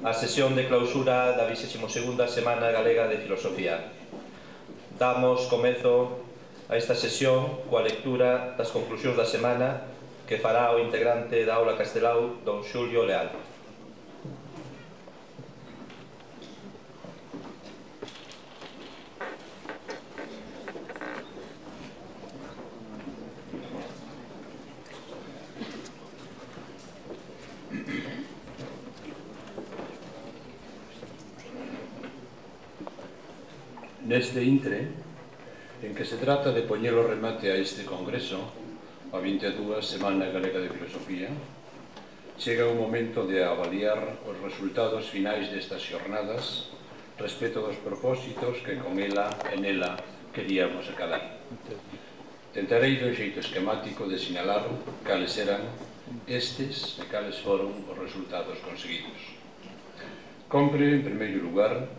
a sesión de clausura da 22ª Semana Galega de Filosofía. Damos comezo a esta sesión coa lectura das conclusións da semana que fará o integrante da aula Castelao, don Xulio Leal. Neste intre, en que se trata de poñer o remate a este congreso, a 22ª Semana Galega de Filosofía, chega o momento de avaliar os resultados finais destas xornadas respecto dos propósitos que con ela e nela queríamos acalar. Tentarei dun xeito esquemático de sinalar cales eran estes e cales foron os resultados conseguidos. Compre, en primeiro lugar,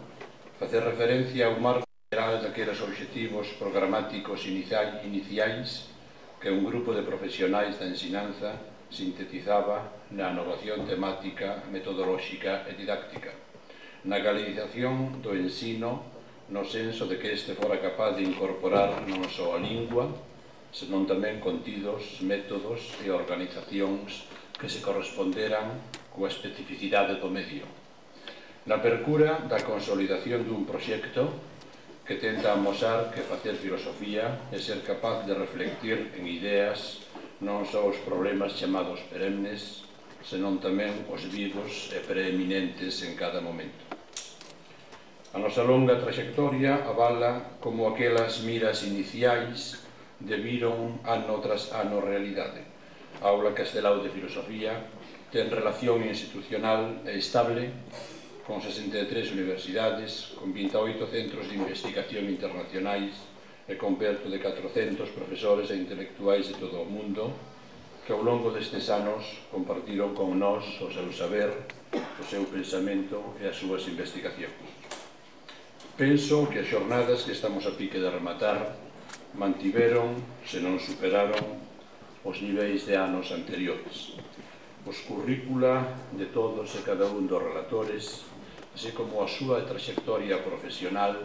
facer referencia ao marco geral daqueles obxectivos programáticos iniciais que un grupo de profesionais da ensinanza sintetizaba na innovación temática, metodolóxica e didáctica, na galicización do ensino no senso de que este fora capaz de incorporar non só a lingua, senón tamén contidos, métodos e organizacións que se corresponderan coa especificidade do medio. Na percura da consolidación dun proxecto que tenta amosar que facer filosofía é ser capaz de reflectir en ideas non só os problemas chamados perennes, senón tamén os vivos e preeminentes en cada momento. A nosa longa trayectoria avala como aquelas miras iniciais deviron ano tras ano realidade. A aula Castelao de Filosofía ten relación institucional e estable con 63 universidades, con 28 centros de investigación internacionais e con perto de 400 profesores e intelectuais de todo o mundo que ao longo destes anos compartiron con nós o seu saber, o seu pensamento e as súas investigacións. Penso que as xornadas que estamos a pique de rematar mantiveron, se non superaron, os niveis de anos anteriores. Os currícula de todos e cada un dos relatores, así como a súa trayectoria profesional,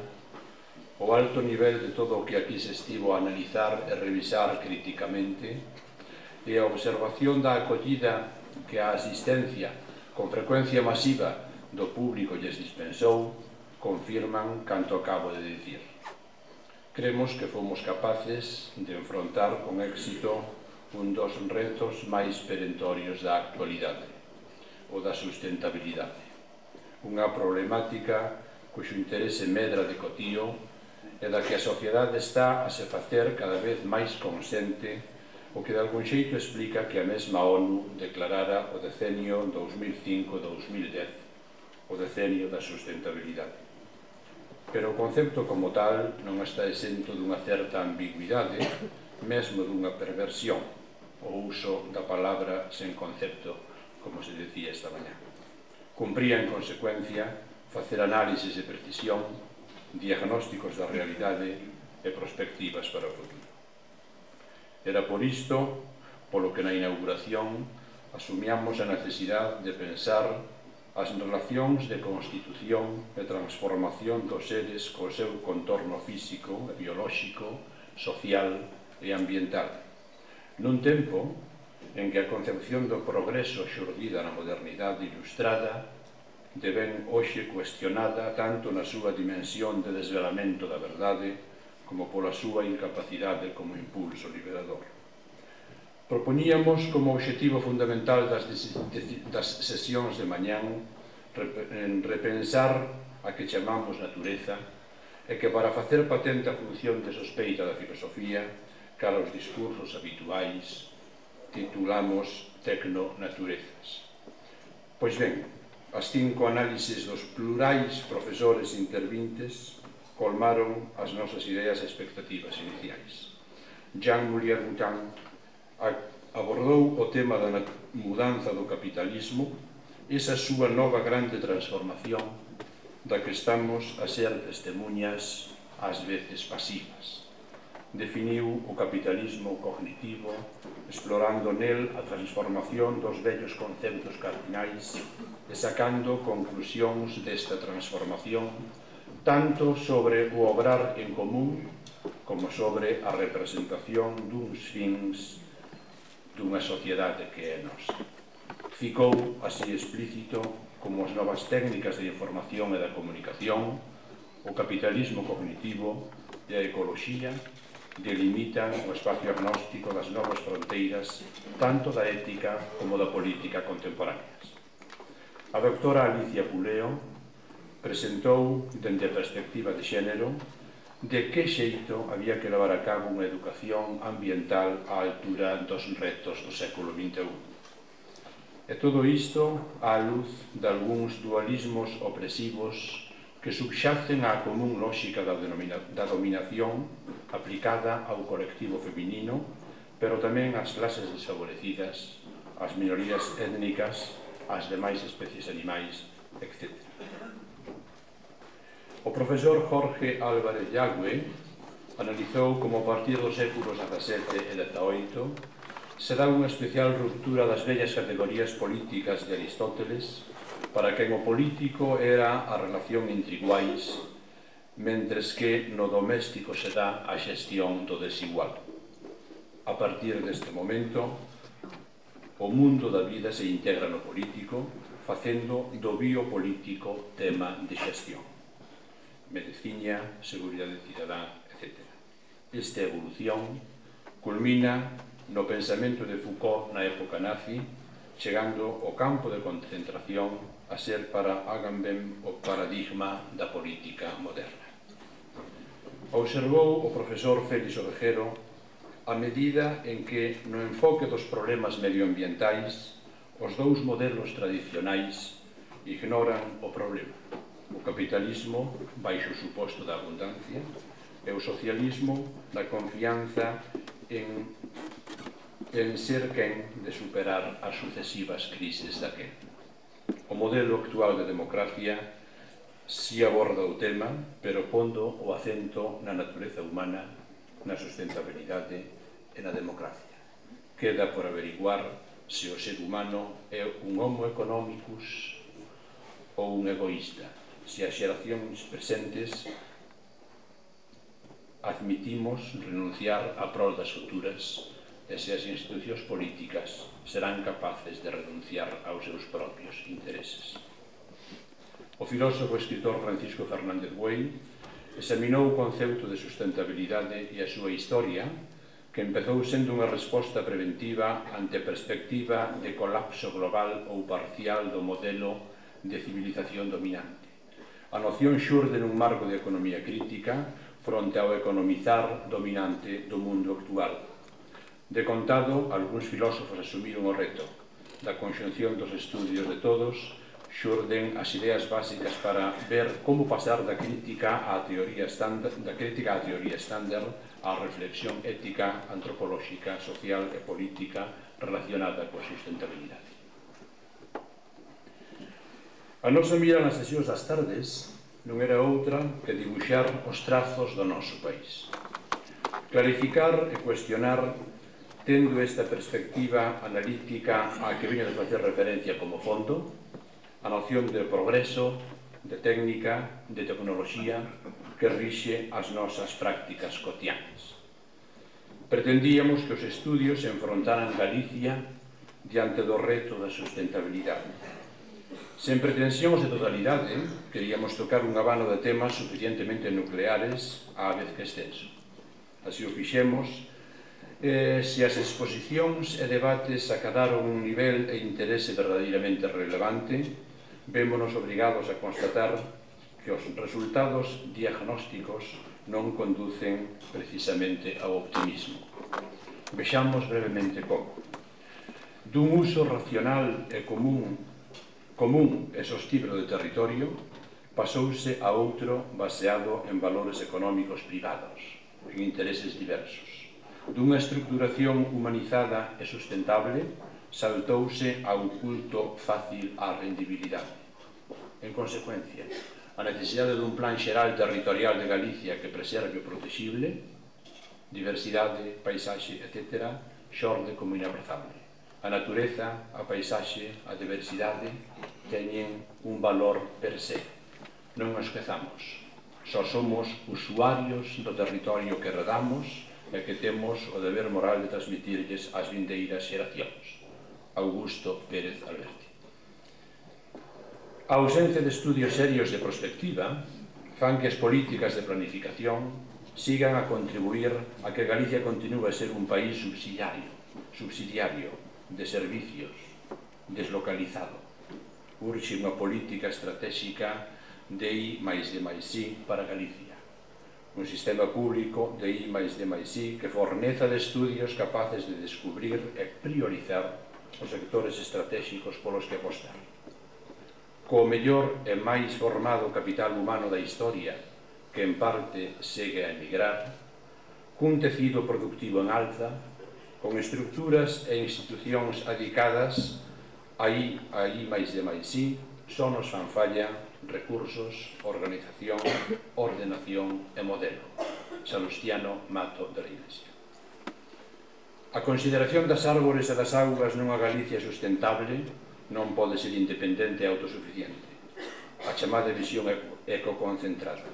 o alto nivel de todo o que aquí se estivo a analizar e revisar críticamente, e a observación da acollida que a asistencia con frecuencia masiva do público lles dispensou, confirman canto acabo de dicir. Cremos que fomos capaces de enfrontar con éxito un dos retos máis perentorios da actualidade, o da sustentabilidade. Unha problemática cuxo interese medra de cotío e da que a sociedade está a se facer cada vez máis consciente, o que de algún xeito explica que a mesma ONU declarara o decenio 2005-2010 o decenio da sustentabilidade. Pero o concepto como tal non está exento dunha certa ambigüidade, mesmo dunha perversión, o uso da palabra sen concepto, como se decía esta mañá. Cumpría, en consecuencia, facer análisis de precisión, diagnósticos da realidade e perspectivas para o futuro. Era por isto, polo que na inauguración asumíamos a necesidade de pensar as relacións de constitución e transformación dos seres co seu contorno físico, biolóxico, social e ambiental, nun tempo en que a concepción do progreso xurdida na modernidade ilustrada devén hoxe cuestionada tanto na súa dimensión de desvelamento da verdade como pola súa incapacidade como impulso liberador. Propoñíamos como obxectivo fundamental das sesións de mañán repensar a que chamamos natureza e que para facer patente a función de sospeita da filosofía cara aos discursos habituais titulamos Tecnonaturezas. Pois ben, as 5 análises dos plurais profesores intervintes colmaron as nosas ideas e expectativas iniciais. Jean-Louis Boutin abordou o tema da mudanza do capitalismo, esa súa nova grande transformación da que estamos a ser testemunhas ás veces pasivas. definiu o capitalismo cognitivo, explorando nel a transformación dos vellos conceptos cardinais e sacando conclusións desta transformación tanto sobre o obrar en común como sobre a representación duns fins dunha sociedade que é nosa. Ficou así explícito como as novas técnicas de información e da comunicación, o capitalismo cognitivo e a ecoloxía delimitan o espacio agnóstico das novas fronteiras tanto da ética como da política contemporáneas. A doctora Alicia Puleo presentou, dende a perspectiva de xénero, de que xeito había que levar a cabo unha educación ambiental á altura dos retos do século XXI. E todo isto á luz de algúns dualismos opresivos que subxacen á común lógica da dominación aplicada ao colectivo feminino, pero tamén ás clases desfavorecidas, ás minorías étnicas, ás demais especies animais, etc. O profesor Jorge Álvarez Yagüe analizou como a partir dos séculos XVII e XVIII se dá unha especial ruptura das vellas categorías políticas de Aristóteles para quen o político era a relación entre iguais, mentres que no doméstico se dá a xestión do desigual. A partir deste momento, o mundo da vida se integra no político, facendo do biopolítico tema de xestión. Medicina, seguridade cidadá, etc. Esta evolución culmina no pensamento de Foucault na época nazi, chegando ao campo de concentración a ser para Agamben o paradigma da política moderna. Observou o profesor Félix Ovejero a medida en que no enfoque dos problemas medioambientais os dous modelos tradicionais ignoran o problema. O capitalismo baixo o suposto da abundancia e o socialismo da confianza en ser quen de superar as sucesivas crises daquel. O modelo actual de democracia si aborda o tema, pero pondo o acento na natureza humana, na sustentabilidade e na democracia. Queda por averiguar se o ser humano é un homo economicus ou un egoísta, se as xeracións presentes admitimos renunciar a prol das futuras e se as institucións políticas serán capaces de renunciar aos seus propios intereses. O filósofo e escritor Francisco Fernández Buey examinou o concepto de sustentabilidade e a súa historia, que empezou sendo unha resposta preventiva ante a perspectiva de colapso global ou parcial do modelo de civilización dominante. A noción xurde nun marco de economía crítica fronte ao economizar dominante do mundo actual. De contado, algúns filósofos asumiron o reto da conxunción dos estudios de todos, xurden as ideas básicas para ver como pasar da crítica á teoría estándar, á reflexión ética, antropolóxica, social e política relacionada coa sustentabilidade. A nosa mira nas sesións das tardes non era outra que dibuixar os trazos do noso país. Clarificar e cuestionar tendo esta perspectiva analítica a que veño de facer referencia como fondo, a noción de progreso, de técnica, de tecnoloxía que rixe as nosas prácticas cotidianas. Pretendíamos que os estudios se enfrontaran Galicia diante do reto da sustentabilidade. Sen pretensións de totalidade, queríamos tocar un abano de temas suficientemente nucleares á vez que extenso. Así o fixemos, se as exposicións e debates acadaron un nivel e interese verdadeiramente relevante, vémonos obrigados a constatar que os resultados diagnósticos non conducen precisamente ao optimismo. Vexamos brevemente como. Dun uso racional e común e sostible do territorio, pasouse a outro baseado en valores económicos privados, en intereses diversos. Dunha estructuración humanizada e sustentable, saltouse a un culto fácil á rendibilidade. En consecuencia, a necesidade dun plan xeral territorial de Galicia que preserve o protexible diversidade, paisaxe, etc., xorde como inabrazable. A natureza, a paisaxe, a diversidade teñen un valor per se. Non nos esquezamos. Só somos usuarios do territorio que heredamos e que temos o deber moral de transmitirlles ás vindeiras xeracións. Augusto Pérez Alberti. A ausencia de estudios serios de prospectiva fan que as políticas de planificación sigan a contribuir a que Galicia continúe a ser un país subsidiario de servicios, deslocalizado. Urxe unha política estratégica de I+D+I para Galicia. Un sistema público de I+D+I que forneza de estudios capaces de descubrir e priorizar os sectores estratégicos polos que apostar. Co mellor e máis formado capital humano da historia, que en parte segue a emigrar, cun tecido productivo en alza, con estructuras e institucións adicadas a I+D+I, só nos fan falla recursos, organización, ordenación e modelo. Salustiano Mato de la Iglesia. A consideración das árbores e das augas nunha Galicia sustentable non pode ser independente e autosuficiente. A chamada visión ecoconcentrada.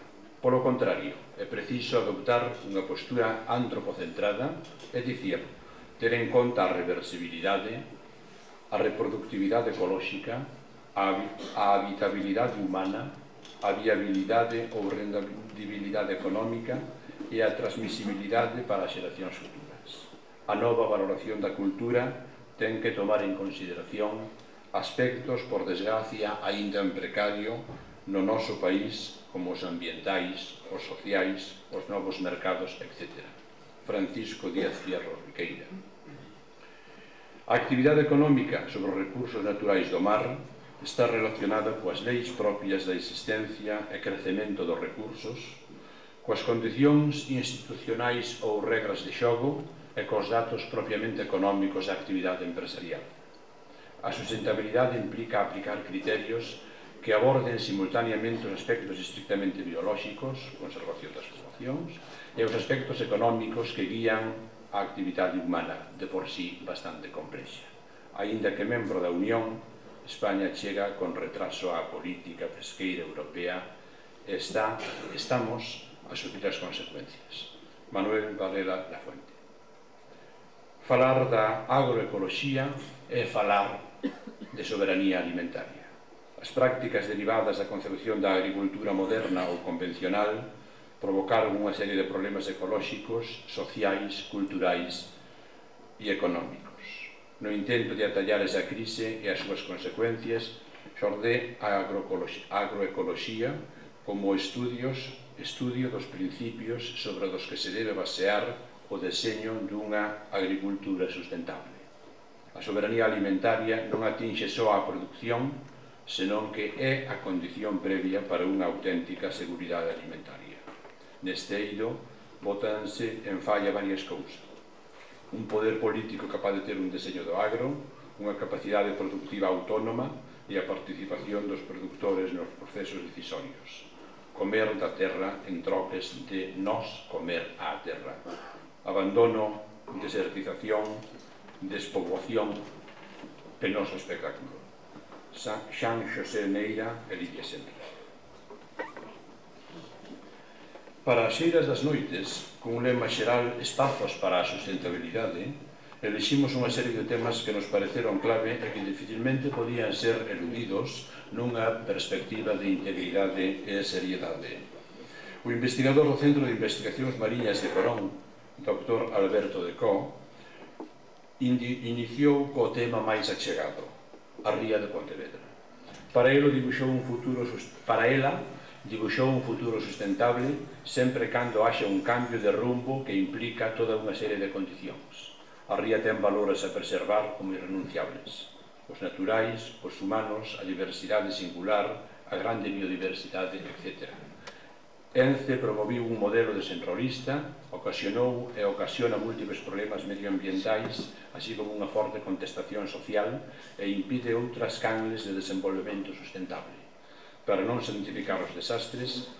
Polo contrario, é preciso adoptar unha postura antropocentrada, é dicir, ter en conta a reversibilidade, a reproductividade ecolóxica, a habitabilidade humana, a viabilidade ou rendibilidade económica e a transmisibilidade para as xeracións futuras. A nova valoración da cultura ten que tomar en consideración aspectos, por desgracia, aínda en precario no noso país, como os ambientais, os sociais, os novos mercados, etc. Francisco Díaz Fierro Riqueira. A actividade económica sobre os recursos naturais do mar está relacionada coas leis propias da existencia e crecemento dos recursos, coas condicións institucionais ou regras de xogo e cos datos propiamente económicos da actividade empresarial. A sustentabilidade implica aplicar criterios que aborden simultaneamente os aspectos estrictamente biolóxicos, conservación das populacións, e os aspectos económicos que guían a actividade humana, de por sí bastante complexa. Aínda que membro da Unión, España chega con retraso á política pesqueira europea e estamos a sufrir as consecuencias. Manuel Varela Lafuente. Falar da agroecoloxía é falar de soberanía alimentaria. As prácticas derivadas da concepción da agricultura moderna ou convencional provocaron unha serie de problemas ecolóxicos, sociais, culturais e económicos. No intento de atallar esa crise e as súas consecuencias, xorde a agroecoloxía como estudio dos principios sobre os que se debe basear o deseño dunha agricultura sustentable. A soberanía alimentaria non atinxe só a produción, senón que é a condición previa para unha auténtica seguridade alimentaria. Neste eido, bótanse en falla varias cousas. Un poder político capaz de ter un deseño do agro, unha capacidade productiva autónoma e a participación dos produtores nos procesos decisorios. Comer da terra en troques de nós comer á terra. Abandono, desertización, despoboación, penoso espectáculo. Xan Xosé Neira e Lidia Senra. Para as xeiras das noites, con un lema xeral Espazos para a sustentabilidade, eliximos unha serie de temas que nos pareceron clave e que dificilmente podían ser eludidos nunha perspectiva de integridade e seriedade. O investigador do Centro de Investigacións Mariñas de Corón, Dr. Alberto de Co, iniciou co tema máis achegado, a ría de Pontevedra. Para ela dibuixou un futuro sustentable sempre cando haxa un cambio de rumbo que implica toda unha serie de condicións. A ría ten valores a preservar como irrenunciables. Os naturais, os humanos, a diversidade singular, a grande biodiversidade, etc. ENCE promoviu un modelo desenrolista, ocasionou e ocasiona múltiples problemas medioambientais, así como unha forte contestación social e impide outras canles de desenvolvemento sustentable. Para non santificar os desastres,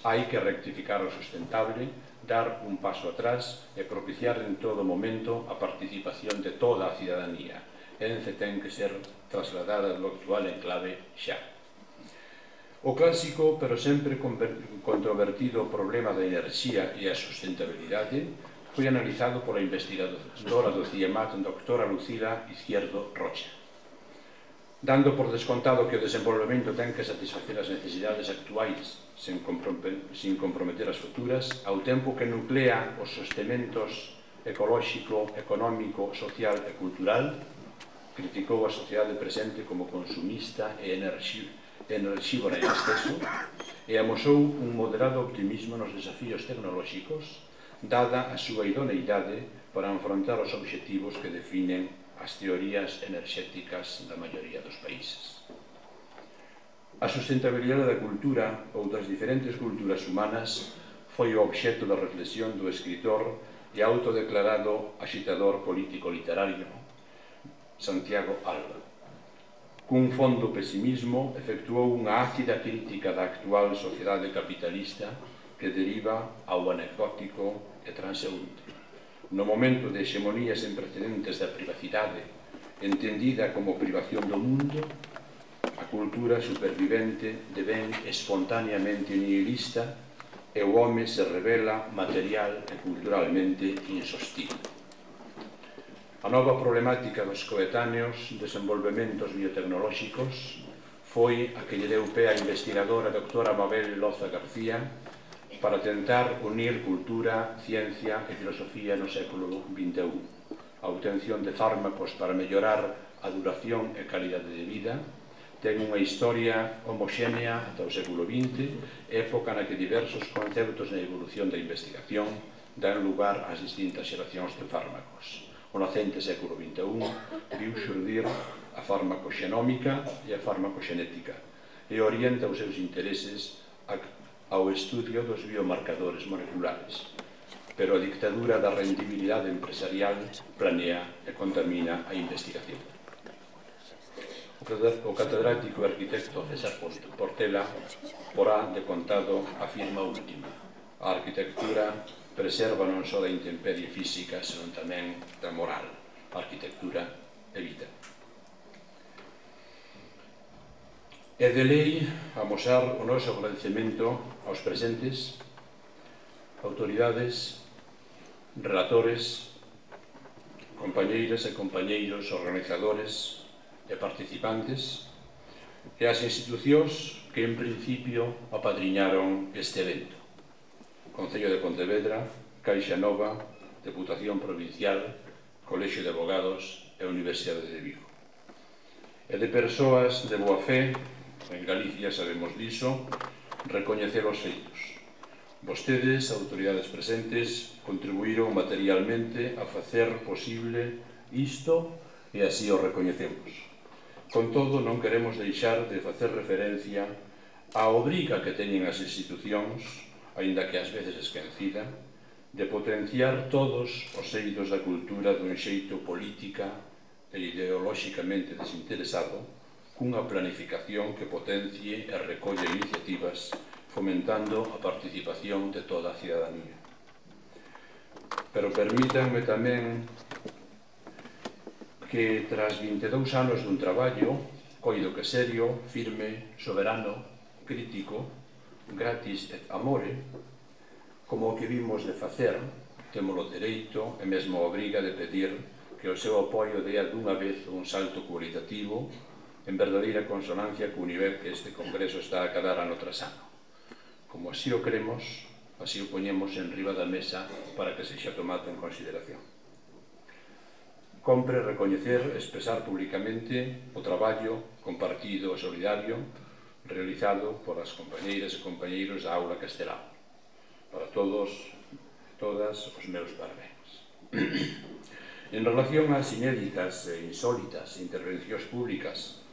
Hai que rectificar o sustentable, dar un paso atrás e propiciar en todo momento a participación de toda a cidadanía. Ence ten que ser trasladada do actual enclave xa. O clásico, pero sempre controvertido problema da enerxía e a sustentabilidade foi analizado pola investigadora do CIEMAT, doctora Lucila Izquierdo Rocha. Dando por descontado que o desenvolvemento ten que satisfacer as necesidades actuais sin comprometer as futuras, ao tempo que nuclea os sostementos ecolóxico, económico, social e cultural, criticou a sociedade presente como consumista e enerxívora en exceso e amosou un moderado optimismo nos desafíos tecnolóxicos, dada a súa idoneidade para afrontar os obxectivos que definen as teorías enerxéticas da maioría dos países. A sustentabilidade da cultura ou das diferentes culturas humanas foi o obxecto da reflexión do escritor e autodeclarado axitador político-literario Santiago Alba. Cun fondo pesimismo, efectuou unha ácida crítica da actual sociedade capitalista que deriva ao anecdótico e transeúnte. No momento de hexemonías sen precedentes da privacidade, entendida como privación do mundo, a cultura supervivente devén espontaneamente nihilista e o home se revela material e culturalmente insostible. A nova problemática dos coetáneos desenvolvementos biotecnolóxicos foi a que lle deu pé a investigadora doctora Mabel Loza García para tentar unir cultura, ciencia e filosofía no século XXI. A obtención de fármacos para mellorar a duración e calidade de vida ten unha historia homoxénea ata o século XX, época na que diversos conceptos na evolución da investigación dan lugar ás distintas xeracións de fármacos. O nacente século XXI viu xurdir a farmacoxenómica e a farmacoxenética e orienta os seus intereses ao estudio dos biomarcadores moleculares. Pero a dictadura da rendibilidade empresarial planea e contamina a investigación. O catedrático e arquitecto César Portela porá de contado a firma última. A arquitectura preserva non só da intemperie física, senón tamén da moral. A arquitectura é vida. É de lei amosar o noso agradecemento aos presentes, autoridades, relatores, compañeiras e compañeiros, organizadores e participantes e as institucións que en principio apadriñaron este evento. Concello de Pontevedra, Caixa Nova, Deputación Provincial, Colexio de Abogados e Universidade de Vigo. E de persoas de boa fe, en Galicia sabemos diso, recoñecer os feitos. Vostedes, autoridades presentes, contribuíron materialmente a facer posible isto e así o recoñecemos. Con todo, non queremos deixar de facer referencia á obriga que teñen as institucións, aínda que ás veces esquecida, de potenciar todos os eidos da cultura dun xeito política e ideolóxicamente desinteresado, cunha planificación que potencie e recolle iniciativas fomentando a participación de toda a cidadanía. Pero permítanme tamén que tras 22 anos dun traballo, coido que serio, firme, soberano, crítico, gratis et amore, como o que vimos de facer, temos o dereito e mesmo a obriga de pedir que o seu apoio dea dunha vez un salto cualitativo en verdadeira consonancia co nivel que este Congreso está a cadar ano tras ano. Como así o queremos, así o poñemos en riba da mesa para que sexa tomado en consideración. Compre recoñecer e expresar públicamente o traballo compartido e solidario realizado por as compañeiras e compañeiros da Aula Castelao. Para todos e todas os meus parabéns. En relación ás inéditas e insólitas intervencións públicas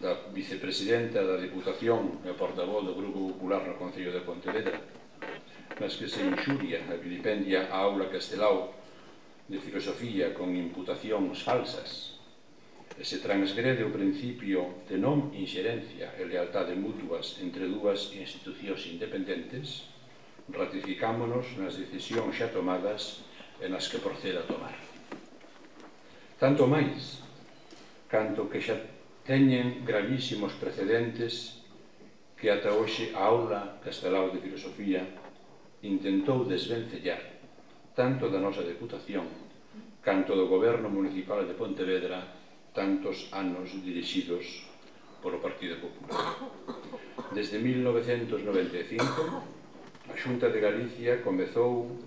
da vicepresidenta da Diputación e portavoz do Grupo Popular no Concello de Pontevedra, nas que se inxuria e vilipendia a Aula Castelao de filosofía con imputacións falsas, e se transgrede o principio de non inxerencia e lealtade mutuas entre dúas institucións independentes, ratificámonos nas decisións xa tomadas e nas que proceda a tomar. Tanto máis, canto que xa teñen gravísimos precedentes que ata hoxe a Aula Castelao de Filosofía intentou desvencellar tanto da nosa Deputación canto do Goberno Municipal de Pontevedra tantos anos dirixidos polo Partido Popular. Desde 1995, a Xunta de Galicia comezou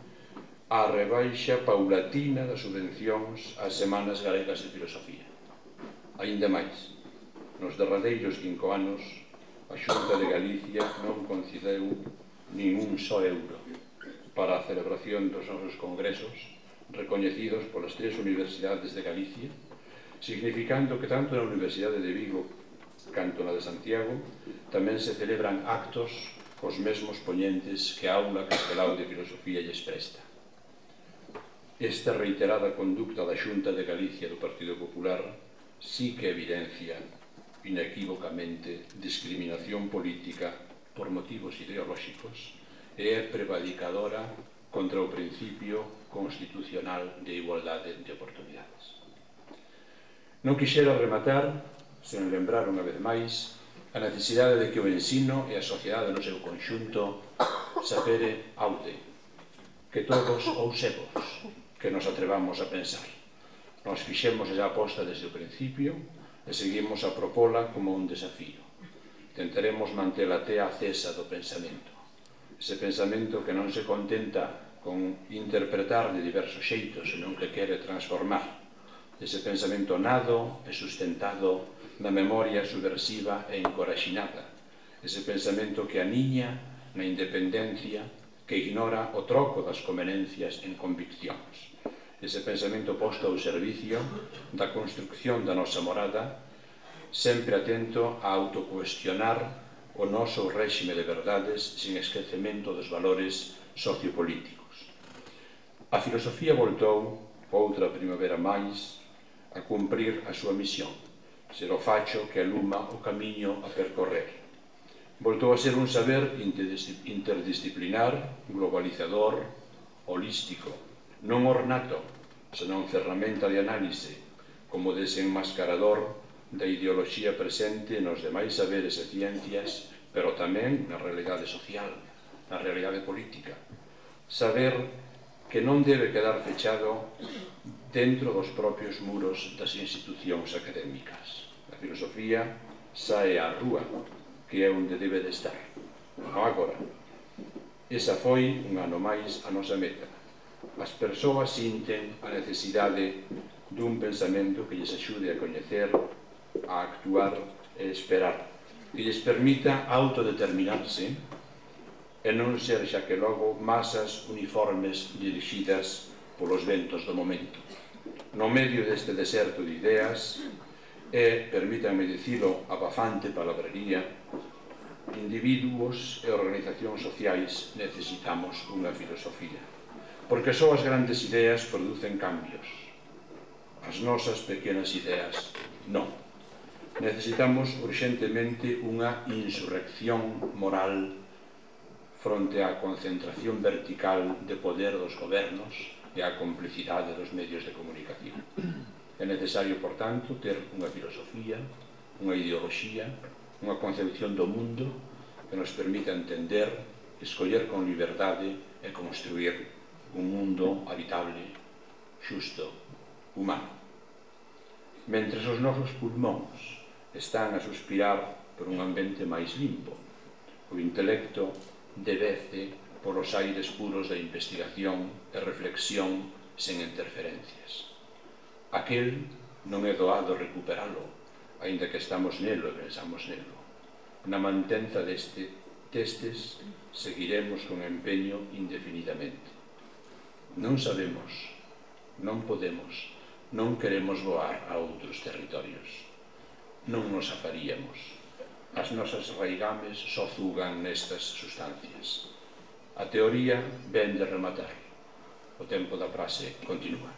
a rebaixa paulatina das subvencións ás Semanas Galegas de Filosofía. Aínda máis, nos derradeiros 5 anos, a Xunta de Galicia non concedeu nin un só euro para a celebración dos nosos congresos recoñecidos polas 3 universidades de Galicia, significando que tanto na Universidade de Vigo canto na de Santiago tamén se celebran actos cos mesmos poñentes que a Aula Castelao de Filosofía lles presta. Esta reiterada conducta da Xunta de Galicia do Partido Popular sí que evidencia inequívocamente discriminación política por motivos ideolóxicos e é prevaricadora contra o principio constitucional de igualdade de oportunidades. Non quixera rematar sen lembrar unha vez máis a necesidade de que o ensino e a sociedade no seu conxunto sapere aude, que todos ousemos, que nos atrevamos a pensar. Nos fixemos esa aposta desde o principio e seguimos a propola como un desafío. Tentaremos manter a tea acesa do pensamento. Ese pensamento que non se contenta con interpretar de diversos xeitos, senón que quere transformar. Ese pensamento nado e sustentado na memoria subversiva e encoraxinada. Ese pensamento que aniña na independencia, que ignora o troco das convenencias en conviccións. Ese pensamento posto ao servicio da construcción da nosa morada, sempre atento a autocuestionar o noso réxime de verdades sin esquecemento dos valores sociopolíticos. A filosofía voltou, outra primavera máis, a cumprir a súa misión, ser o facho que aluma o camiño a percorrer. Voltou a ser un saber interdisciplinar, globalizador, holístico, non ornato, senón ferramenta de análise, como desenmascarador da ideoloxía presente nos demais saberes e ciencias, pero tamén na realidade social, na realidade política. Saber que non debe quedar fechado dentro dos propios muros das institucións académicas. A filosofía sae á rúa, que é onde debe de estar, non agora. Esa foi, un ano máis, a nosa meta. As persoas sinten a necesidade dun pensamento que lles axude a coñecer, a actuar e esperar, que lles permita autodeterminarse e non ser xa que logo masas uniformes dirixidas polos ventos do momento. No medio deste deserto de ideas e, permítanme dicilo, abafante palabrería, individuos e organizacións sociais necesitamos unha filosofía, porque só as grandes ideas producen cambios. As nosas pequenas ideas non. Necesitamos urxentemente unha insurrección moral fronte á concentración vertical de poder dos gobernos e á complicidade dos medios de comunicación. É necesario, por tanto, ter unha filosofía, unha ideoloxía, unha concepción do mundo que nos permita entender, escoller con liberdade e construir un mundo habitable, xusto, humano. Mentres os nosos pulmóns están a suspirar por un ambiente máis limpo, o intelecto devece polos aires puros da investigación e reflexión sen interferencias. Aquel non é doado recuperalo, aínda que estamos nelo e pensamos nelo. Na mantenza destes seguiremos con empeño indefinidamente. Non sabemos, non podemos, non queremos voar a outros territorios. Non nos afaríamos. As nosas raigames só zugan nestas sustancias. A teoría ven de rematar. O tempo da frase continúa.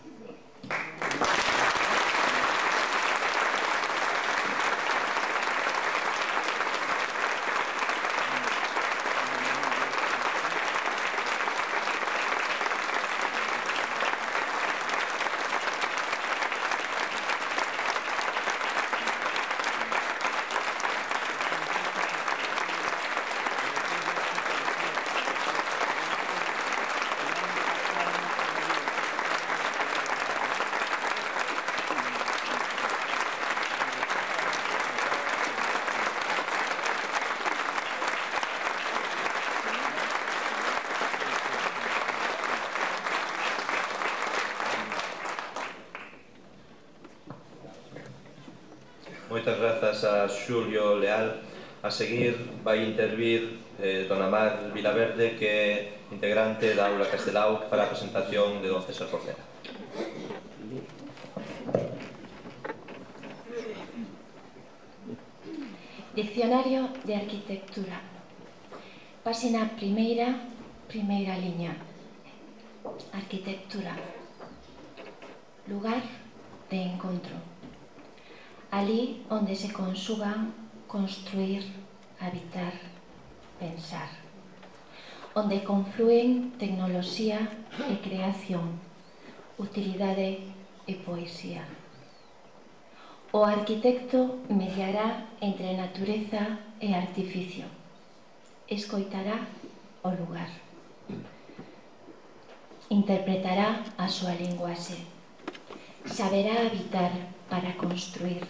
Moitas grazas a Xulio Leal. A seguir vai intervir Dona Mar Vilaverde, que é integrante da Aula Castelao, para a presentación de don César Portela. Diccionario de Arquitectura. Páxina primeira, primeira liña. Arquitectura. Lugar de encontro. Ali onde se conxugan construir, habitar, pensar. Onde conflúen tecnoloxía e creación, utilidade e poesía. O arquitecto mediará entre natureza e artificio. Escoitará o lugar. Interpretará a súa linguaxe. Saberá habitar para construir.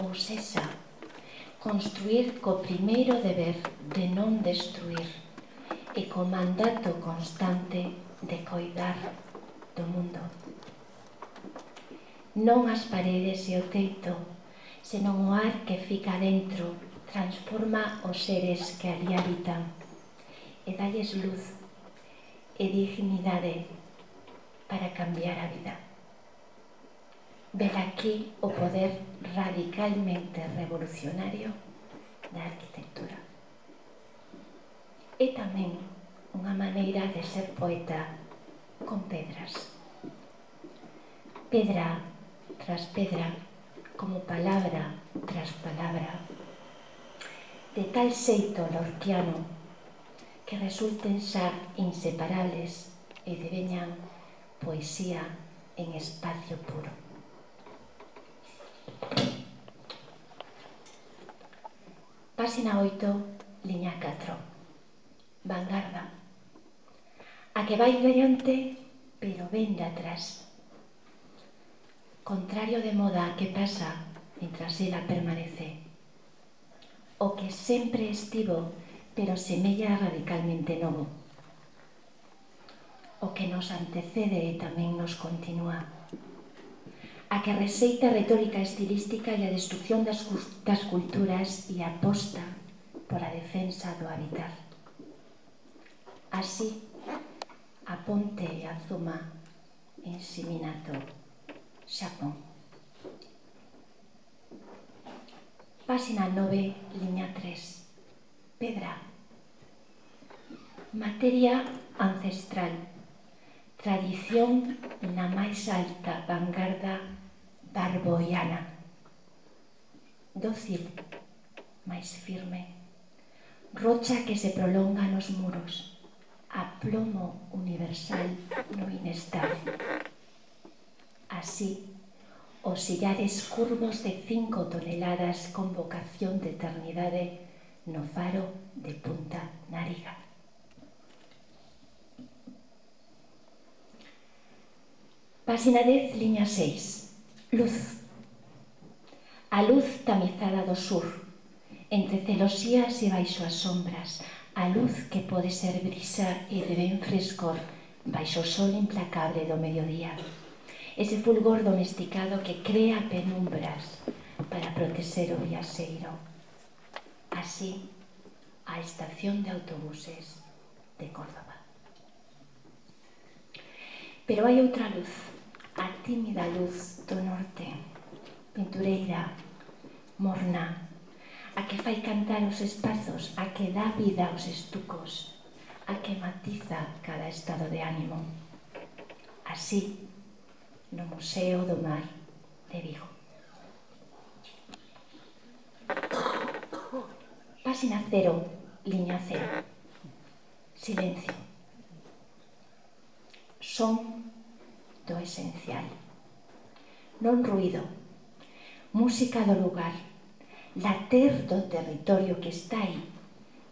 Ou sexa, construir co primeiro deber de non destruir e co mandato constante de coidar do mundo. Non as paredes e o teito, senón o ar que fica dentro, transforma os seres que ali habitan e dalles luz e dignidade para cambiar a vida. Ver aquí o poder radicalmente revolucionario da arquitectura. É tamén unha maneira de ser poeta con pedras. Pedra tras pedra, como palabra tras palabra, de tal xeito lorquiano que resulten xa inseparables e deveñan poesía en espacio puro. Páxina 8, liña 4. Vanguarda. A que vai diante, pero ven de atrás. Contrario de moda que pasa mientras ela permanece. O que sempre estivo, pero semella radicalmente novo. O que nos antecede e tamén nos continúa. A que receita a retórica estilística e a destrucción das culturas e aposta pola defensa do habitar. Así, a ponte e a zuma en Shiminato, Xapón. Páxina 9, liña 3. Pedra. Materia ancestral. Tradición na máis alta vanguarda barboiana. Dócil, máis firme. Rocha que se prolonga nos muros. Aplomo universal no inestable. Así, os sillares curvos de 5 toneladas con vocación de eternidade no faro de Punta Nariga. Páxina 10, liña 6. Luz. A luz tamizada do sur, entre celosías e baixo as sombras, a luz que pode ser brisa e de ben frescor baixo o sol implacable do mediodía. Ese fulgor domesticado que crea penumbras para protexer o viaxeiro. Así, a estación de autobuses de Córdoba. Pero hai outra luz, a tímida luz do norte, pintureira, morna, a que fai cantar os espazos, a que dá vida aos estucos, a que matiza cada estado de ánimo. Así, no Museo do Mar de Vigo. Páxina 0, liña 0. Silencio. Son do esencial. Non ruído. Música do lugar. Later do territorio que está aí,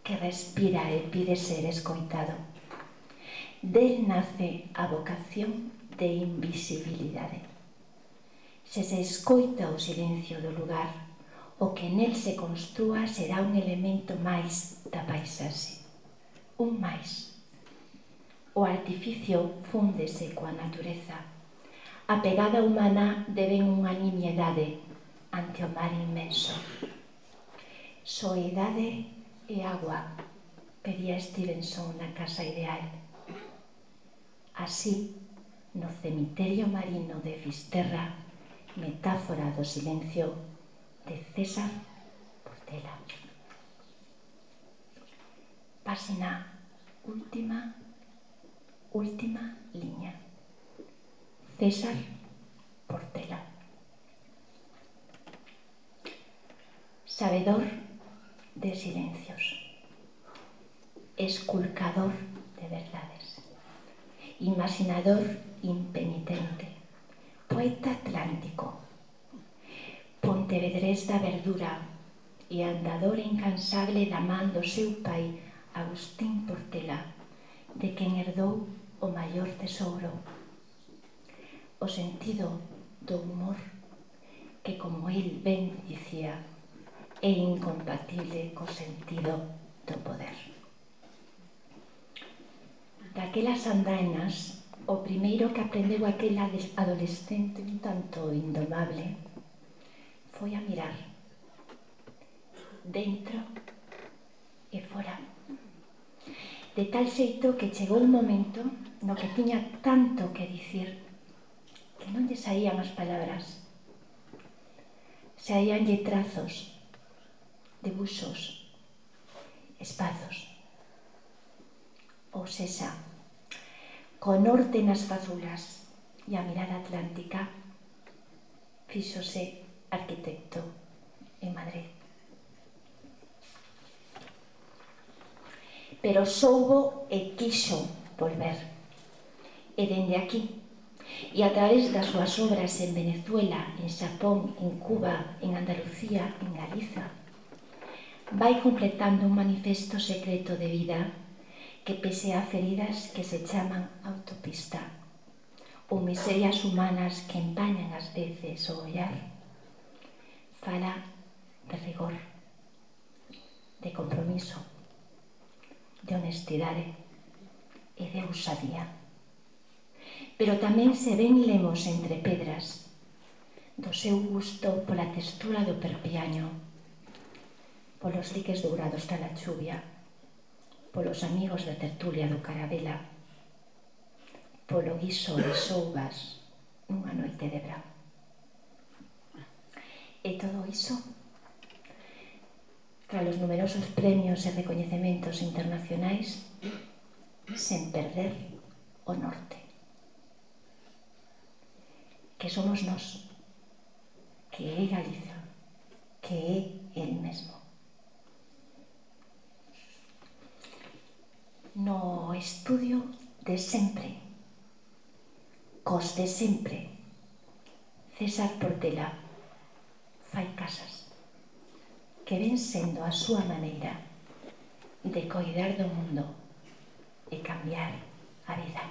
que respira e pide ser escoitado. Del nace a vocación de invisibilidade. Se se escoita o silencio do lugar, o que nel se construa será un elemento máis da paisaxe. Un máis. O artificio fúndese coa natureza. A pegada humana deben unha nimiedade, ante o mar inmenso. Soidade e agua, pedía Stevenson na casa ideal. Así, no cemiterio marino de Fisterra, metáfora do silencio de César Portela. Páxina última liña. César Portela. Sabedor de silencios, esculcador de verdades, imaginador impenitente, poeta atlántico, pontevedrés da verdura e andador incansable da man do seu pai Agustín Portela, de quen herdou o maior tesouro, o sentido do humor que, como el ben dicía, é incompatible co sentido do poder. Daquelas andainas, o primeiro que aprendeu aquela adolescente un tanto indomable foi a mirar dentro e fora, de tal xeito que chegou un momento no que tiña tanto que dicir que non lle saían as palabras, saíanlle trazos, debuxos, espazos. Ou sexa, co norte nas fazulas e a mirada atlántica, fíxose arquitecto en Madrid. Pero soubo e quixo volver. E dende aquí, e a través das súas obras en Venezuela, en Xapón, en Cuba, en Andalucía, en Galiza, vai completando un manifesto secreto de vida que, pese a feridas que se chaman autopista ou miserias humanas que empañan ás veces o ollar, fala de rigor, de compromiso, de honestidade e de ousadía. Pero tamén se ven lemos entre pedras do seu gusto pola textura do perpiaño, polos liques dourados da la chuvia, polos amigos da tertulia do Carabela, polo guiso de soubas nunha noite de verán. E todo iso, tras os numerosos premios e recoñecementos internacionais, sen perder o norte, que somos nós, que é Galiza, que é el mesmo. No estudio de sempre, cos de sempre, César Portela fai casas que ven sendo a súa maneira de coidar do mundo e cambiar a vida.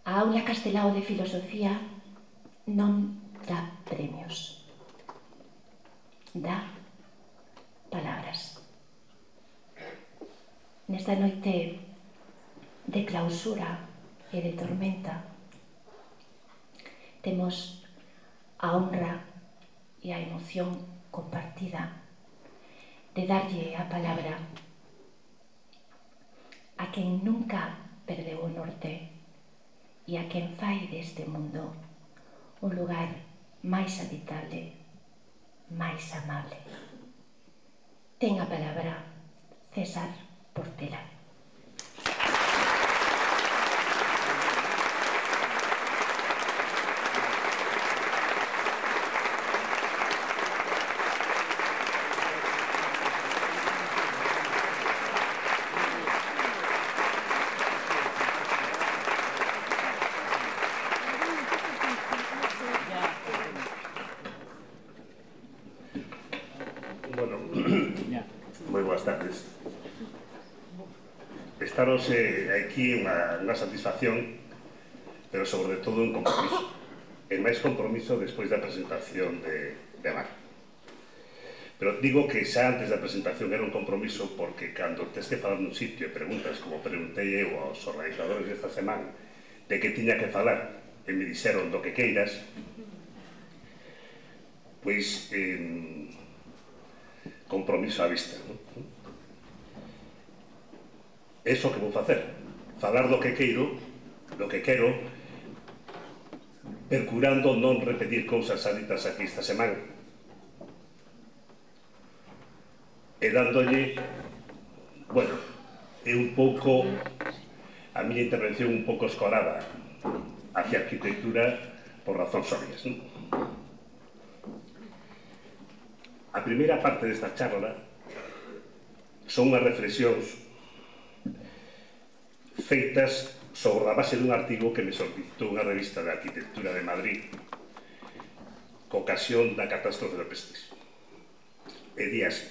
A Aula Castelao de Filosofía non dá premios, dá palabras. Nesta noite de clausura e de tormenta temos a honra e a emoción compartida de darlle a palabra a quen nunca perdeu o norte e a quen fai deste mundo un lugar máis habitable, máis amable. Ten a palabra César Portela. Moi boas tardes. Estaros aquí unha satisfacción, pero sobre todo un compromiso. E máis compromiso despois da presentación de Mar. Pero digo que xa antes da presentación era un compromiso porque cando tes que falar nun sitio e preguntas, como preguntei eu aos organizadores desta semana, de que tiña que falar, e me dixeron do que queiras, pois, compromiso á vista. É iso que vou facer, falar do que quero, procurando non repetir cousas ditas aquí esta semana, e dándolle, bueno, é un pouco a miña intervención un pouco escorada hacia a arquitectura por razóns obvias, non? A primeira parte desta charla son unhas reflexións feitas sobre a base dun artigo que me solicitou unha revista de arquitectura de Madrid co ocasión da catástrofe do Prestige. E di así: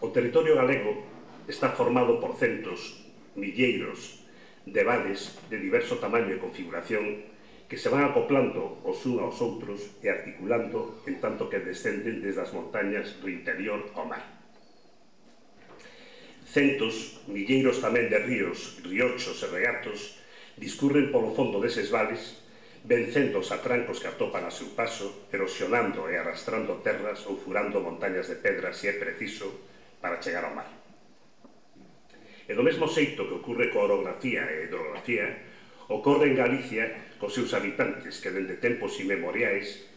o territorio galego está formado por centos, milleiros de vales de diverso tamaño e configuración que se van acoplando os uns aos outros e articulando en tanto que descenden desde as montañas do interior ao mar. Centos, milleiros tamén de ríos, riochos e regatos discurren polo fondo deses vales, vencendo os atrancos que atopan a seu paso, erosionando e arrastrando terras ou furando montañas de pedras se é preciso para chegar ao mar. E do mesmo xeito que ocorre coa orografía e hidrografía, ocorre en Galicia cos seus habitantes que dende tempos inmemoriais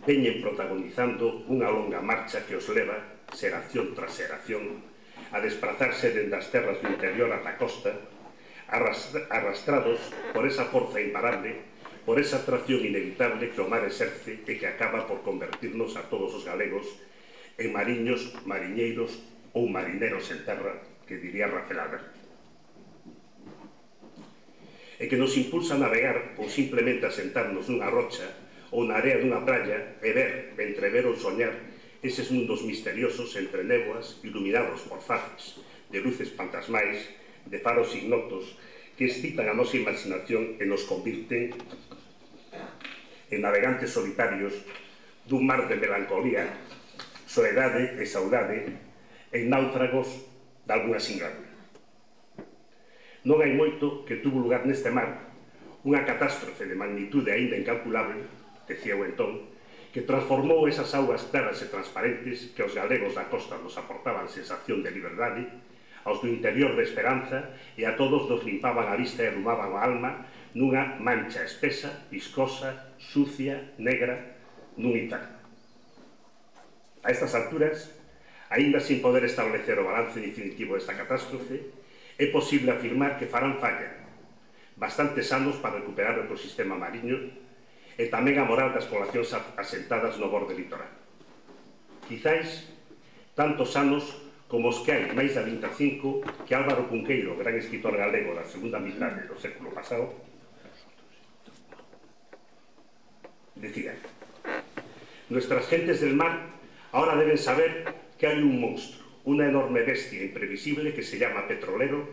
veñen protagonizando unha longa marcha que os leva, xeración tras xeración, a desplazarse dende as terras do interior ata a costa, arrastrados por esa forza imparable, por esa atracción inevitable que o mar exerce e que acaba por convertirnos a todos os galegos en mariños, mariñeiros ou marineros en terra, que diría Rafael Alberti. E que nos impulsa a navegar ou simplemente a sentarnos nunha rocha ou na area dunha praia e ver, entrever ou soñar eses mundos misteriosos entre néboas iluminados por faces de luces fantasmais, de faros ignotos que excitan a nosa imaginación e nos convirten en navegantes solitarios dun mar de melancolía, soedade e saudade, en náufragos de alguna singladura. Non hai moito que tuvo lugar neste mar unha catástrofe de magnitude aínda incalculable, decía o entón, que transformou esas augas claras e transparentes que os galegos da costa nos aportaban sensación de liberdade, aos do interior de esperanza, e a todos nos limpaban a vista e alumaban a alma nunha mancha espesa, viscosa, sucia, negra, nun inferno. A estas alturas, aínda sin poder establecer o balance definitivo desta catástrofe, é posible afirmar que farán falla bastantes anos para recuperar o ecosistema mariño e tamén a moral das poblacións asentadas no borde litoral. Quizáis tantos anos como os que hai máis de 25 que Álvaro Cunqueiro, gran escritor galego da segunda mitade do século pasado, decía: nuestras gentes del mar ahora deben saber que hay un monstruo, una enorme bestia imprevisible que se llama petrolero,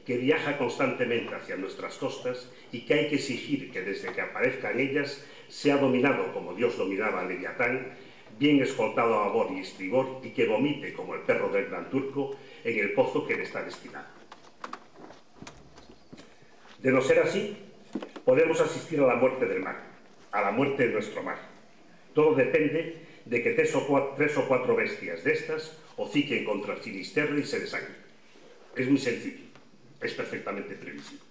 que viaja constantemente hacia nuestras costas y que hay que exigir que desde que aparezcan ellas sea dominado como Dios dominaba a Leviatán, bien escoltado a babor y estribor y que vomite como el perro del gran turco en el pozo que le está destinado. De no ser así, podemos asistir a la muerte del mar, a la muerte de nuestro mar. Todo depende de que tres o cuatro bestias de estas hociquen contra el Finisterre y se desangren. Es muy sencillo, es perfectamente previsible.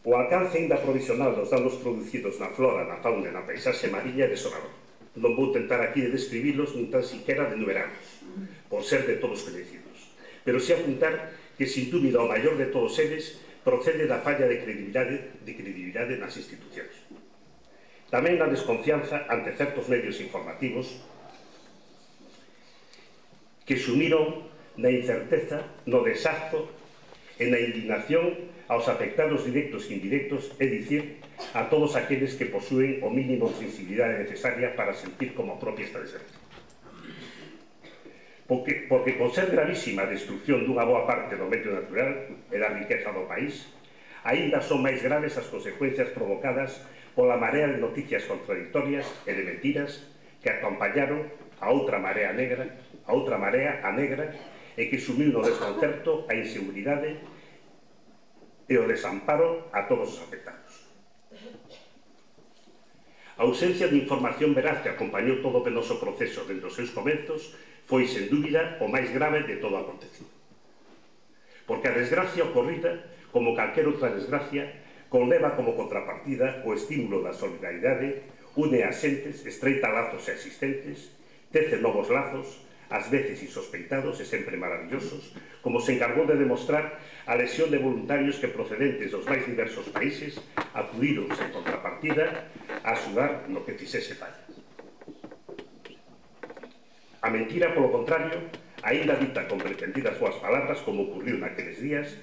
O alcance ainda provisional dos danos producidos na flora, na fauna e na paisaxe mariña é desolador. Non vou tentar aquí de describilos nin tan siquiera de enumerarlos, por ser de todos coñecidos, pero si apuntar que sin dúbida o maior de todos eles procede da falla de credibilidade nas institucións. Tamén da desconfianza ante certos medios informativos que sumiron na incerteza, no desazo e na indignación aos afectados directos e indirectos, é dicir, a todos aqueles que posúen o mínimo de sensibilidade necesaria para sentir como propia esta desgracia. Porque con ser gravísima a destrucción dunha boa parte do medio natural e da riqueza do país, aínda son máis graves as consecuencias provocadas pola marea de noticias contradictorias e de mentiras que acompañaron a outra marea negra, e que sumiu no desconcerto, a inseguridade e o desamparo a todos os afectados. A ausencia de información veraz que acompañou todo o penoso proceso dentro dos seus comezos foi, sen dúbida, o máis grave de todo o acontecido. Porque a desgracia ocorrida, como calquera outra desgracia, conleva como contrapartida o estímulo da solidaridade, une as xentes, estreita lazos existentes, tece novos lazos, ás veces insospeitados e sempre maravillosos, como se encargou de demostrar a lesión de voluntarios que procedentes dos máis diversos países acudiron sen contrapartida a axudar no que fixese falla. A mentira, polo contrario, aínda dita con pretendidas súas palabras, como ocurriu naqueles días,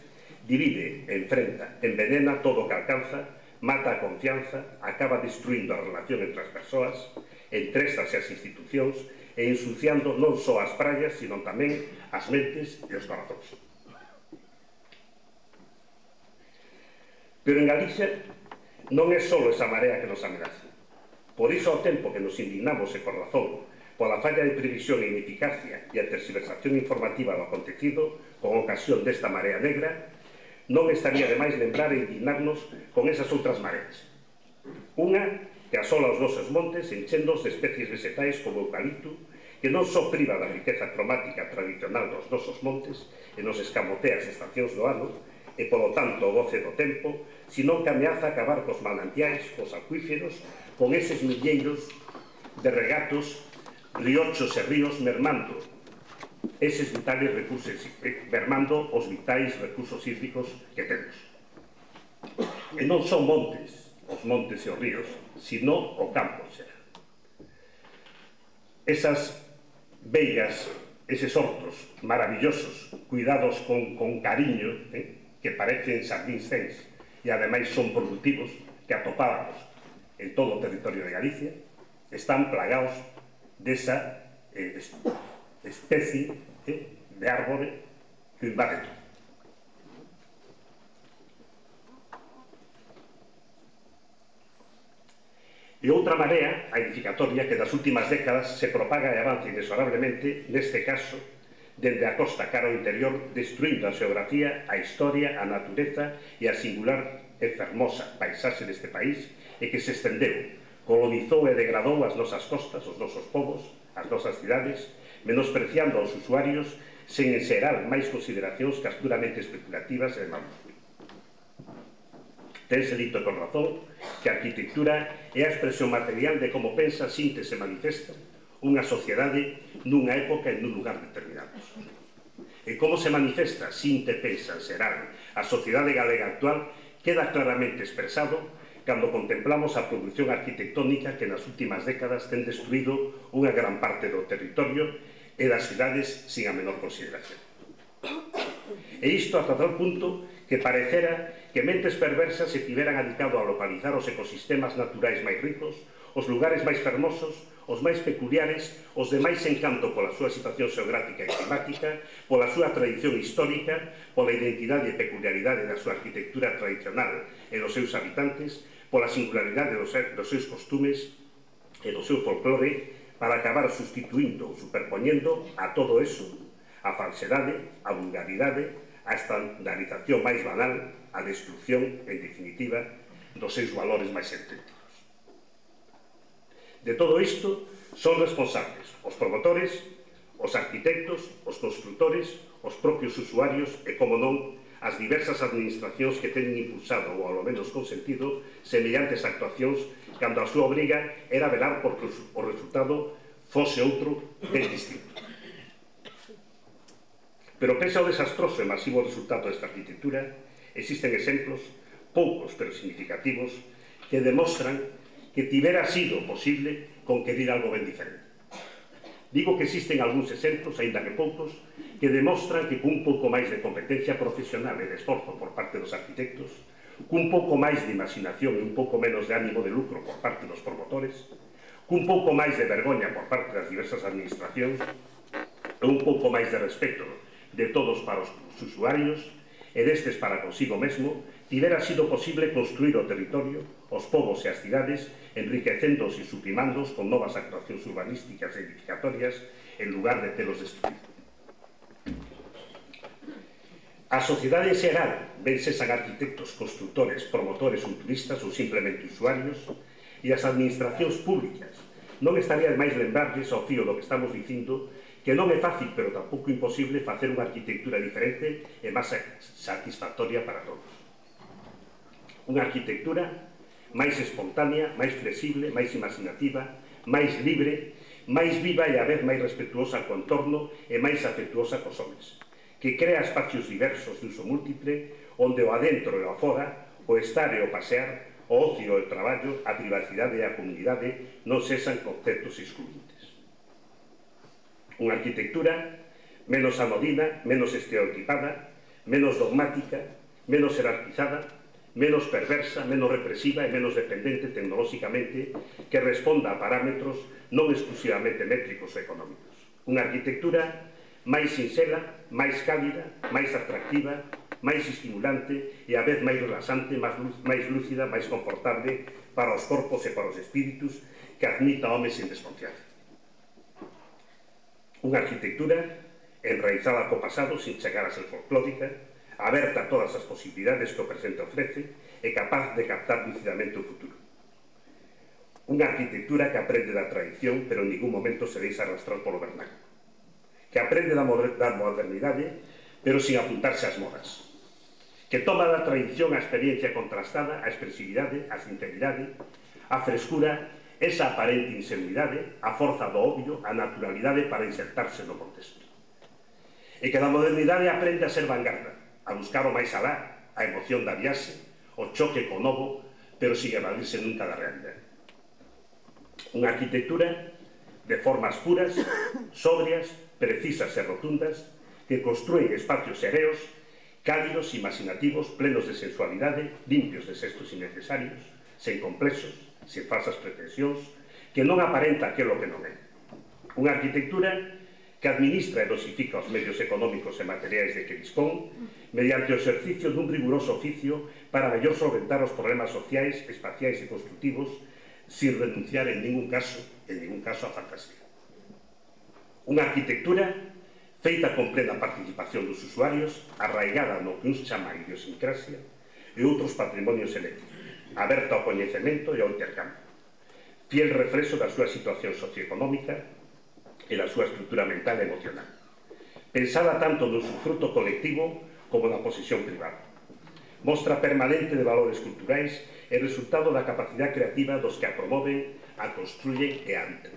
divide, enfrenta, envenena todo o que alcanza, mata a confianza, acaba destruindo a relación entre as persoas, entréstase as institucións e ensuciando non só as praias, sino tamén as mentes e os corazóns. Pero en Galicia non é só esa marea que nos ameaza. Por iso, ao tempo que nos indignamos e por razón pola falla de previsión e ineficacia e a tergiversación informativa do acontecido con ocasión desta marea negra, non estaría de máis lembrar e indignarnos con esas outras mareas. Unha que asola os nosos montes enchendos de especies vegetais como eucalipto, que non só priva da riqueza cromática tradicional dos nosos montes e nos escamotea as estacións do ano, e, polo tanto, o goce do tempo, sino que ameaza acabar cos manantiais, cos acuíferos, con eses milleiros de regatos, riochos e ríos mermando eses vitales recursos, mermando os vitais recursos hídricos que temos. E non son montes, os montes e os ríos, sino o campo xeral. Esas veigas, eses hortos maravillosos, cuidados con cariño, que parecen xardíns cens e ademais son productivos, que atopábamos en todo o territorio de Galicia, están plagados desa especie de árbore que invade todo. E outra marea, a edificatoria, que das últimas décadas se propaga e avanza inexorablemente, neste caso, dende a costa cara ao interior, destruindo a xeografía, a historia, a natureza e a singular e fermosa paisaxe deste país, e que se estendeu, colonizou e degradou as nosas costas, os nosos povos, as nosas cidades, menospreciando aos usuarios sen enxerar máis consideracións que as puramente especulativas e de mal gusto. Tense dito con razón que a arquitectura é a expresión material de como pensa, sinte e se manifesta unha sociedade nunha época e nun lugar determinados. E como se manifesta, sinte, pensa, xeral, a sociedade galega actual queda claramente expresado cando contemplamos a produción arquitectónica que nas últimas décadas ten destruído unha gran parte do territorio e das cidades sin a menor consideración. E isto ata tal punto que parecera que mentes perversas se tiveran adicado a localizar os ecosistemas naturais máis ricos, os lugares máis fermosos, os máis peculiares, os de máis encanto pola súa situación xeográfica e climática, pola súa tradición histórica, pola identidade e peculiaridade da súa arquitectura tradicional e dos seus habitantes, pola singularidade dos seus costumes e do seu folclore, para acabar sustituindo ou superpoñendo a todo eso a falsedade, a vulgaridade, a estandarización máis banal, a destrucción, en definitiva, dos seus valores máis auténticos. De todo isto son responsables os promotores, os arquitectos, os construtores, os propios usuarios e, como non, as diversas administracións que teñen impulsado ou ao menos consentido semellantes actuacións cando a súa obriga era velar porque o resultado fose outro ben distinto. Pero pese ao desastroso e masivo resultado desta arquitectura, existen exemplos, poucos pero significativos, que demostran que tivera sido posible conquerir algo ben diferente. Digo que existen algúns exemplos, aínda que poucos, que demostran que cun pouco máis de competencia profesional e de esforzo por parte dos arquitectos, cun pouco máis de imaginación e un pouco menos de ánimo de lucro por parte dos promotores, cun pouco máis de vergoña por parte das diversas administracións e un pouco máis de respeto de todos para os usuarios e destes para consigo mesmo, tivera sido posible construir o territorio, os povos e as cidades, enriquecéndose e sublimándoos con novas actuacións urbanísticas e edificatorias en lugar de telos destruídos. A sociedade xeral, ben sean arquitectos, constructores, promotores ou turistas ou simplemente usuarios, e as administracións públicas. Non estaría de máis lembrarlles ao fío do que estamos dicindo que non é fácil, pero tampouco imposible, facer unha arquitectura diferente e máis satisfactoria para todos. Unha arquitectura máis espontánea, máis flexible, máis imaginativa, máis libre, máis viva e a vez máis respetuosa co entorno e máis afectuosa cos homes, que crea espacios diversos de uso múltiple, onde o adentro e o afora, o estar e o pasear, o ocio e o traballo, a privacidade e a comunidade non sexan conceptos excluintes. Unha arquitectura menos anodina, menos estereotipada, menos dogmática, menos jerarquizada, menos perversa, menos represiva e menos dependente tecnolóxicamente, que responda a parámetros non exclusivamente métricos e económicos. Unha arquitectura máis sinxela, máis cálida, máis atractiva, máis estimulante e a vez máis relaxante, máis lúcida, máis confortable para os corpos e para os espíritus, que admita homes sin desconfianza. Unha arquitectura enraizada co pasado sin chegar a ser folclórica, aberta a todas as posibilidades que o presente ofrece e capaz de captar lucidamente o futuro. Unha arquitectura que aprende da tradición, pero en ningún momento se deixa arrastrar polo vernáculo. Que aprende da modernidade, pero sin apuntarse ás modas. Que toma da tradición a experiencia contrastada, a expresividade, a sinceridade, a frescura, esa aparente inseguridade, a forza do obvio, a naturalidade para insertarse no contexto. E que da modernidade aprende a ser vanguarda, a buscar o máis alá, a emoción da viaxe, o choque co novo, pero sin evadirse nunca da realidade. Unha arquitectura de formas puras, sobrias, precisas e rotundas, que construen espacios sereos, cálidos, imaginativos, plenos de sensualidade, limpios de xestos innecesarios, sen complexos, sen falsas pretensións, que non aparenta aquilo que non é. Unha arquitectura que administra e dosifica os medios económicos e materiais de que dispón, mediante o exercicio dun riguroso oficio para mellor solventar os problemas sociais, espaciais e construtivos, sin renunciar en ningún caso a fantasía. Unha arquitectura feita con plena participación dos usuarios, arraigada no que uns chaman idiosincrasia e outros patrimonios eléctricos, aberta ao coñecemento e ao intercambio, fiel reflexo da súa situación socioeconómica e da súa estrutura mental e emocional, pensada tanto no usufruto colectivo como na posesión privada. Mostra permanente de valores culturais e resultado da capacidade creativa dos que a promoven, a construyen e a habitan.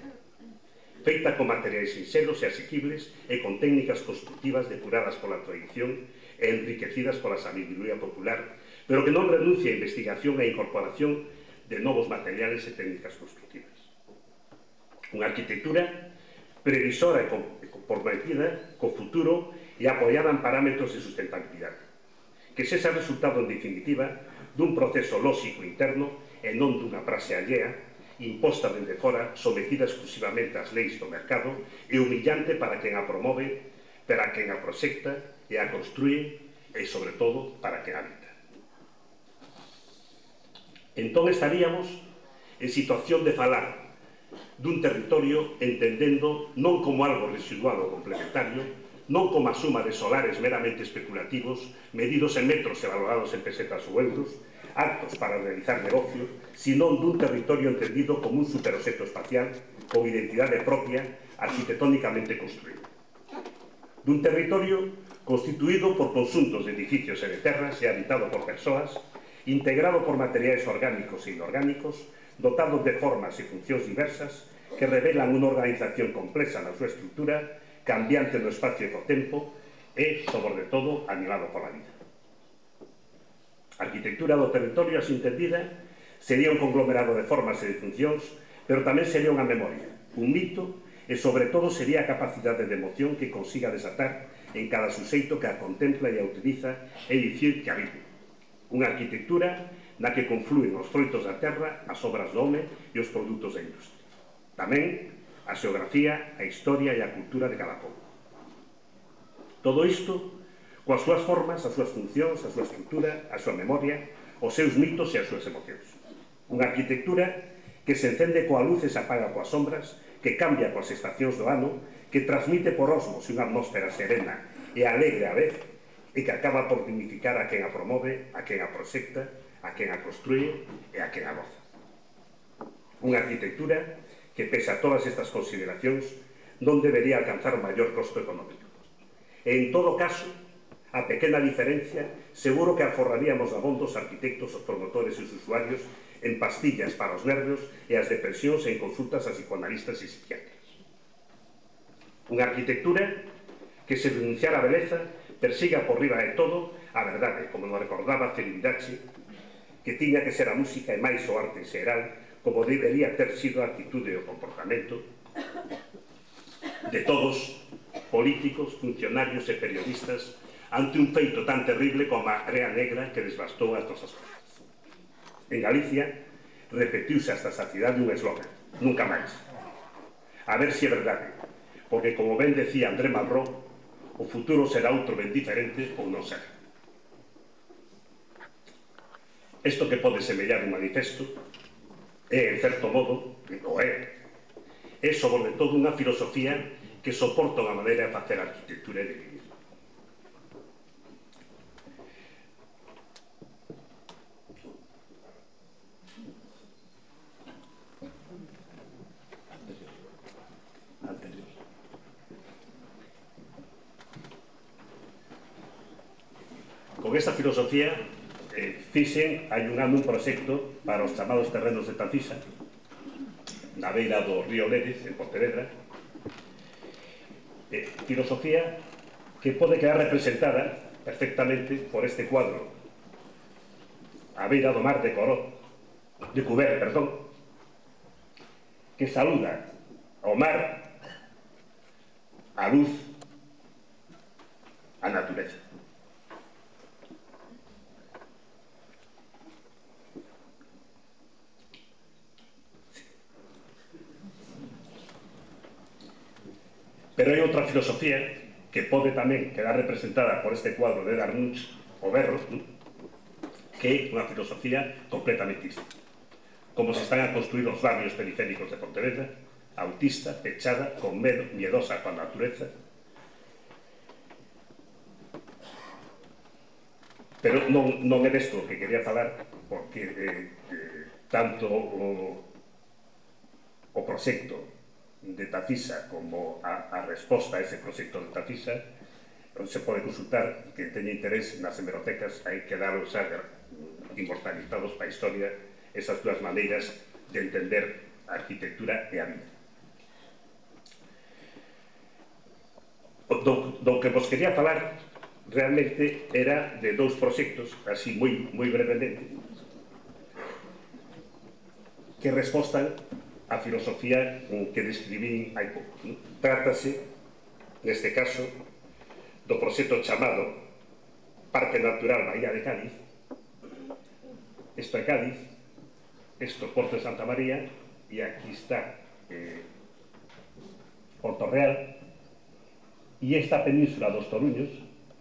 Feita con materiais sinxelos e asequibles e con técnicas constructivas depuradas pola tradición e enriquecidas pola sabiduría popular, pero que non renuncia a investigación e a incorporación de novos materiales e técnicas constructivas. Unha arquitectura previsora e comprometida co futuro e apoiada en parámetros de sustentabilidade, que sexa resultado, en definitiva, dun proceso lóxico interno e non dunha praxe allea, imposta dende fora, sometida exclusivamente ás leis do mercado e humillante para quen a promove, para quen a proxecta e a construye e, sobre todo, para quen habita. Entón estaríamos en situación de falar dun territorio entendendo non como algo residual ou complementario, non como a suma de solares meramente especulativos, medidos en metros e valorados en pesetas ou euros, actos para realizar negocio, sino dun territorio entendido como un superobxecto espacial con identidade propia, arquitectónicamente construído. Dun territorio constituído por conxuntos de edificios e de terras e habitado por persoas, integrado por materiais orgánicos e inorgánicos, dotado de formas e funcións diversas que revelan unha organización complexa na súa estrutura, cambiante no espacio e co tempo e, sobre todo, animado pola vida. A arquitectura do territorio, así entendida, sería un conglomerado de formas e de funcións, pero tamén sería unha memoria, un mito e, sobre todo, sería a capacidade de emoción que consiga desatar en cada suxeito que a contempla e a utiliza e dicir que a vive. Unha arquitectura na que conflúen os froitos da terra, as obras do home e os produtos da industria. Tamén a xeografía, a historia e a cultura de cada pobo. Todo isto coas súas formas, as súas funcións, a súa estrutura, a súa memoria, os seus mitos e as súas emocións. Unha arquitectura que se encende coa luz e se apaga coas sombras, que cambia coas estacións do ano, que transmite por osmos unha atmósfera serena e alegre á vez, e que acaba por dignificar a quen a promove, a quen a proxecta, a quen a construye e a quen a goza. Unha arquitectura que, pese a todas estas consideracións, non debería alcanzar maior costo económico. E, en todo caso, a pequena diferencia, seguro que aforraríamos abondo os arquitectos, os promotores e os usuarios en pastillas para os nervios e as depresións e en consultas a psicoanalistas e psiquiatras. Unha arquitectura que, se denunciar a beleza, persiga por riba de todo a verdade, como nos recordaba Celibidache, que tiña que ser a música e máis o arte en xeral, como debería ter sido a actitude e o comportamento de todos, políticos, funcionarios e periodistas, ante un feito tan terrible como a Marea Negra que desbastou as nosas costas. En Galicia, repetiuse hasta a saciedade un eslogan: nunca máis. A ver se é verdade, porque, como ben decía André Malraux, o futuro será outro ben diferente ou non será. Isto que pode semellar un manifesto é, en certo modo, é sobre todo unha filosofía que soporta unha maneira de facer arquitectura e de vivir. Con esta filosofía fixen hai un ano un proxecto para os chamados terrenos de Tafisa, na beira do río Lérez, en Pontevedra, filosofía que pode quedar representada perfectamente por este cuadro a beira do mar de Cuber, que saúda ao mar, a luz, a natureza. Pero hai outra filosofía que pode tamén quedar representada por este cuadro de Darmunch, o Berro, que é unha filosofía completamente distinta. Como se están a construir os barrios periféricos de Pontevedra, autista, pechada, con medo, miedosa coa natureza. Pero non é desto que quería falar, porque tanto o proxecto de Tafisa como a resposta a ese proxecto de Tafisa se pode consultar. Que teña interés nas hemerotecas, hai que daros inmortalizados para a historia esas dúas maneiras de entender a arquitectura e a vida. Do que vos quería falar realmente era de dous proxectos, así moi brevemente, que respostan a filosofía que describín hai pouco. Trátase, neste caso, do proxecto chamado Parque Natural Bahía de Cádiz. Isto é Cádiz, isto Porto de Santa María, e aquí está Porto Real, e esta península dos Toruños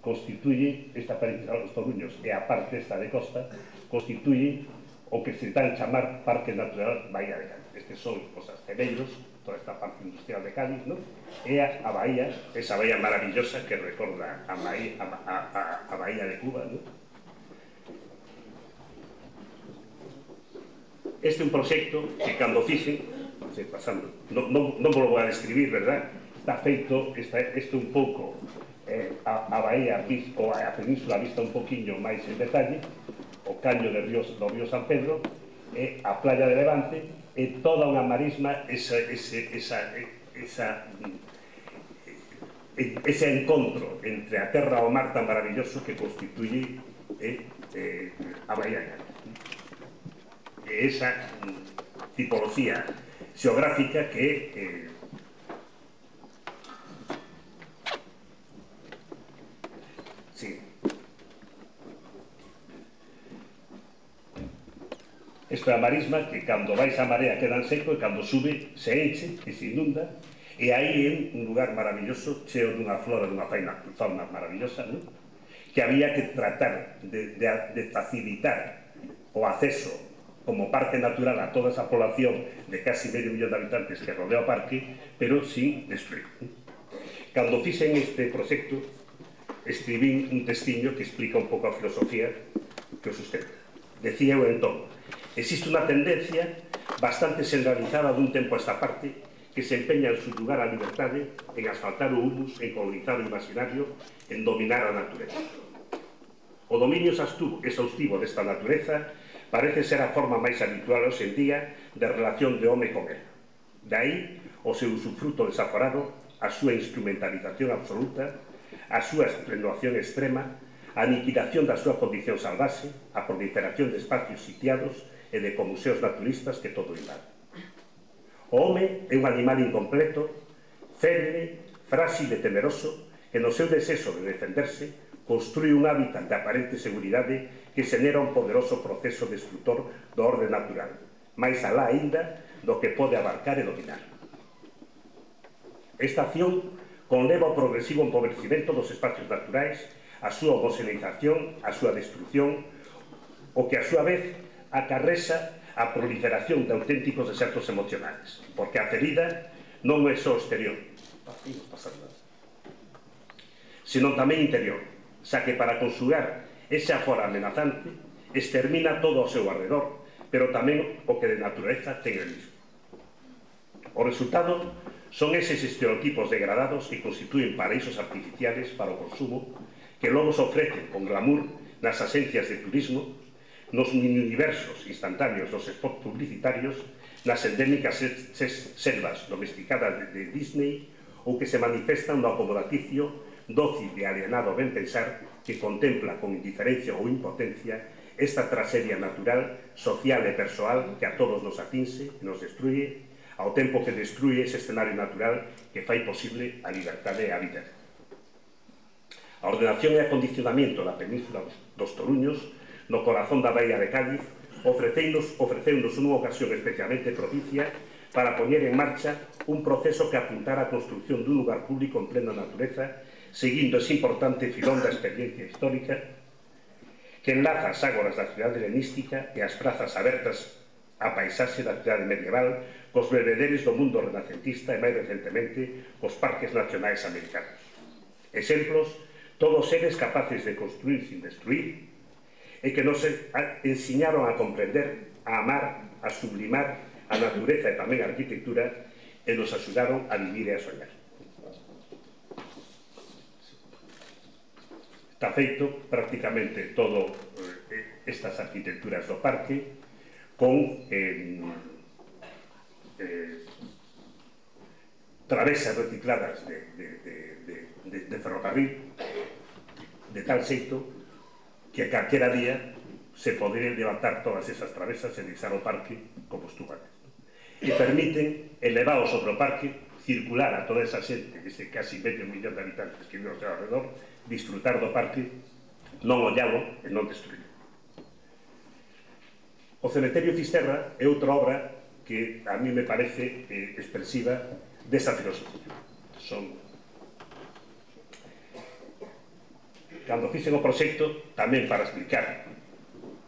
constituye, esta península dos Toruños e a parte esta de costa, constituye o que se dan chamar Parque Natural Bahía de Cádiz. Estes son os asteleiros, toda esta parte industrial de Cádiz, e a bahía, esa bahía maravillosa que recorda a bahía de Cuba. Este é un proxecto que, cando fixen, non vos lo vou a describir, verdad? Está feito, isto un pouco a bahía ou a península vista un poquinho máis en detalle, o caño do río San Pedro, e a playa de Levante, e toda unha marisma, ese encontro entre a terra e o mar tan maravilloso que constituye a Bahía de Cádiz. E esa tipología xeográfica que isto é a marisma que, cando vais a marea, queda en seco, e cando sube se enche e se inunda, e aí é un lugar maravilloso, cheo dunha flora, dunha fauna maravillosa, que había que tratar de facilitar o acceso como parque natural a toda esa población de casi medio millón de habitantes que rodea o parque, pero sin destruir. Cando fixen este proxecto, escribín un textiño que explica un pouco a filosofía que o sustenta. Decía eu entón: existe unha tendencia bastante generalizada dun tempo a esta parte, que se empeña en subjugar a liberdade, en asfaltar o humus, en colonizar o imaginario, en dominar a natureza. O dominio exhaustivo desta natureza parece ser a forma máis habitual hoxe en día de relación de home con ela. De aí o seu usufruto desaforado, a súa instrumentalización absoluta, a súa extenuación extrema, a aniquilación da súa condición salvaxe, a proliferación de espacios sitiados e de museos naturistas que todo invade. O home é un animal incompleto, feble, frágil e temeroso, que no seu desexo de defenderse construí un hábitat de aparente seguridade que xenera un poderoso proceso destructor do orde natural, máis alá aínda do que pode abarcar e dominar. Esta acción conleva o progresivo empobrecimento dos espacios naturais, a súa homogeneización, a súa destrucción, o que a súa vez acarrexa a proliferación de auténticos desertos emocionales, porque a ferida non é só exterior, senón tamén interior, xa que para conxugar ese afora amenazante extermina todo ao seu arredor, pero tamén o que de natureza ten el mismo. O resultado son eses estereotipos degradados que constituen paraísos artificiales para o consumo, que logo se ofrecen con glamour nas agencias de turismo, nos mini-universos instantáneos dos spots publicitarios, nas endémicas selvas domesticadas de Disney, ou que se manifestan no acomodaticio, dócil e alienado ben pensar, que contempla con indiferencia ou impotencia esta tragedia natural, social e persoal que a todos nos atinse e nos destruye, ao tempo que destruye ese escenario natural que fai posible a liberdade e a vida. A ordenación e acondicionamento da península dos Toruños, no corazón da baía de Cádiz, ofreceunos unha ocasión especialmente propicia para poñer en marcha un proceso que apuntara a construcción dun lugar público en plena natureza, seguindo ese importante filón da experiencia histórica que enlaza as ágoras da cidade helenística e as prazas abertas á paisaxe da cidade medieval cos bebederes do mundo renacentista e, máis recentemente, cos parques nacionais americanos. Exemplos, todos eles capaces de construir sin destruir, e que nos ensiñaron a comprender, a amar, a sublimar a natureza e tamén a arquitectura e nos axudaron a vivir e a soñar. Está feito prácticamente todo estas arquitecturas do parque con travesas recicladas de ferrocarril, de tal xeito que calquera día se poderían levantar todas esas travesas e deixar o parque como estuvo antes. E permiten elevar sobre o parque, circular a toda esa xente, ese casi medio millón de habitantes que vive ao seu alrededor, disfrutar do parque, non ollalo e non destruirlo. O Cemiterio Fisterra é outra obra que a mí me parece expresiva desa filosofía. Cando fixen o proxecto, tamén para explicar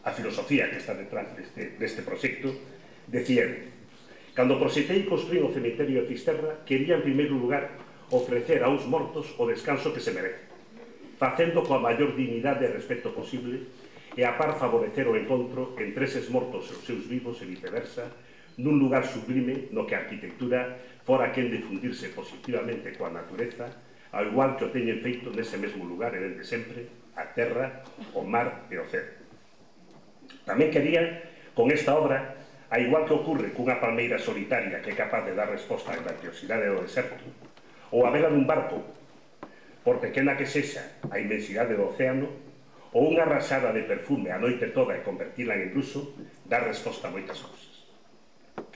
a filosofía que está detrás deste proxecto, decían: cando proxectei construir o cemiterio de Fisterra, quería en primeiro lugar ofrecer a uns mortos o descanso que se merecen, facendo coa maior dignidade e respeto posible, e a par favorecer o encontro entre eses mortos e os seus vivos e viceversa, nun lugar sublime no que a arquitectura fora quen de fundirse positivamente coa natureza, ao igual que o teñen feito nese mesmo lugar e dende sempre a terra, o mar e o ceo. Tamén quería, con esta obra, a igual que ocurre cunha palmeira solitaria que é capaz de dar resposta á grandiosidade do deserto, ou a vela dun barco, por pequena que sexa a inmensidade do océano, ou unha rasada de perfume a noite toda e convertila en bruxo, dar resposta a moitas cousas.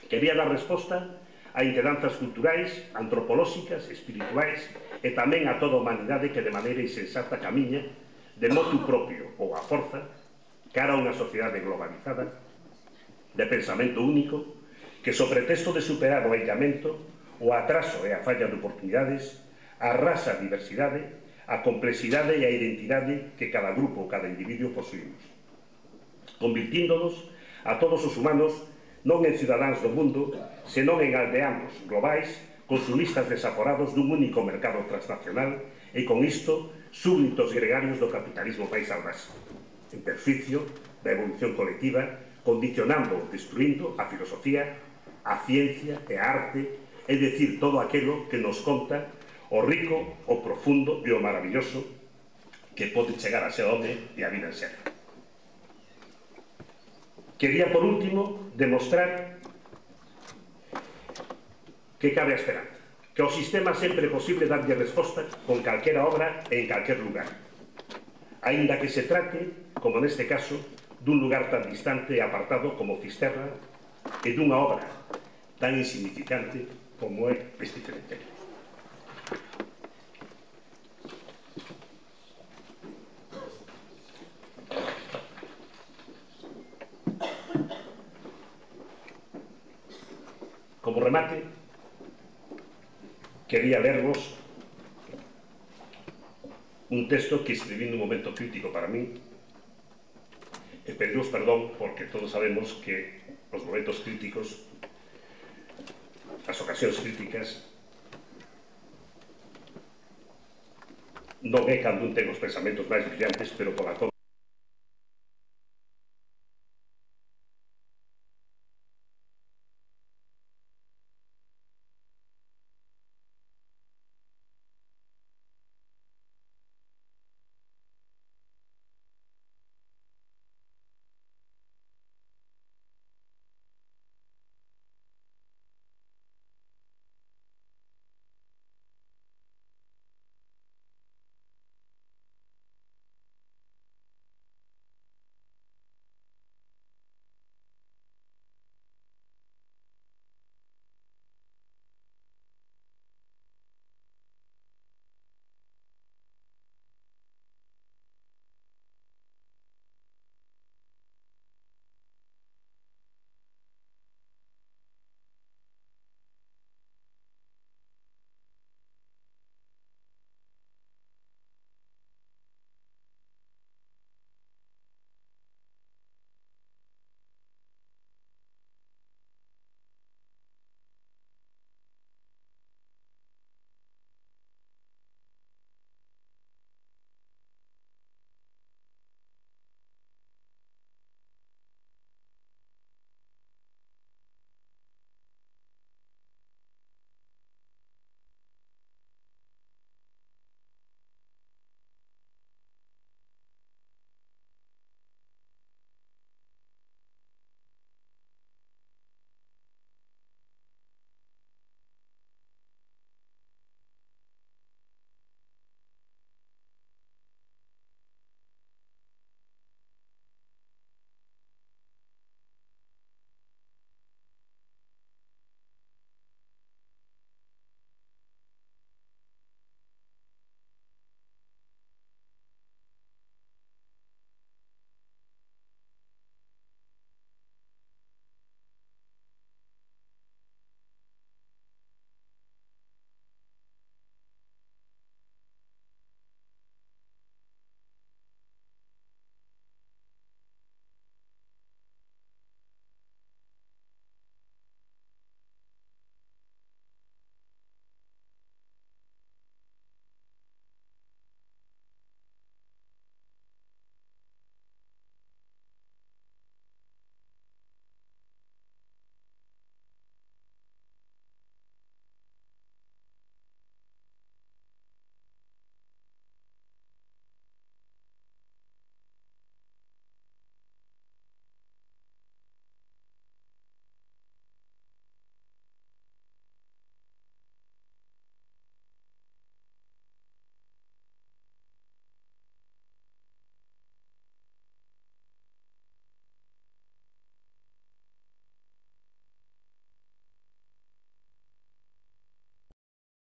Quería dar resposta a inquedanzas culturais, antropolóxicas, espirituais e tamén a toda a humanidade que de maneira insensata camiña, de motu propio ou a forza, cara a unha sociedade globalizada, de pensamento único, que so pretexto de superar o aillamento, o atraso e a falla de oportunidades, arrasa a diversidade, a complexidade e a identidade que cada grupo ou cada individuo posuímos, convirtíndonos a todos os humanos non en cidadáns do mundo, senón en aldeanos globais, consumistas desaforados dun único mercado transnacional e, con isto, súbditos gregarios do capitalismo máis salvaxe, en perjuicio da evolución colectiva, condicionando, destruindo a filosofía, a ciencia e a arte, é dicir, todo aquilo que nos conta o rico, o profundo e o maravilloso que pode chegar a ser home e a vida en ser. Quería, por último, demostrar que cabe a esperanza, que ao sistema sempre é posible darlle resposta con calquera obra e en calquer lugar, aínda que se trate, como neste caso, dun lugar tan distante e apartado como Fisterra e dunha obra tan insignificante como é este cementerio. Como remate, quería lervos un texto que escribí nun momento crítico para mí e pediros perdón porque todos sabemos que os momentos críticos, as ocasións críticas, non é cando un ten os pensamentos máis brillantes, pero pola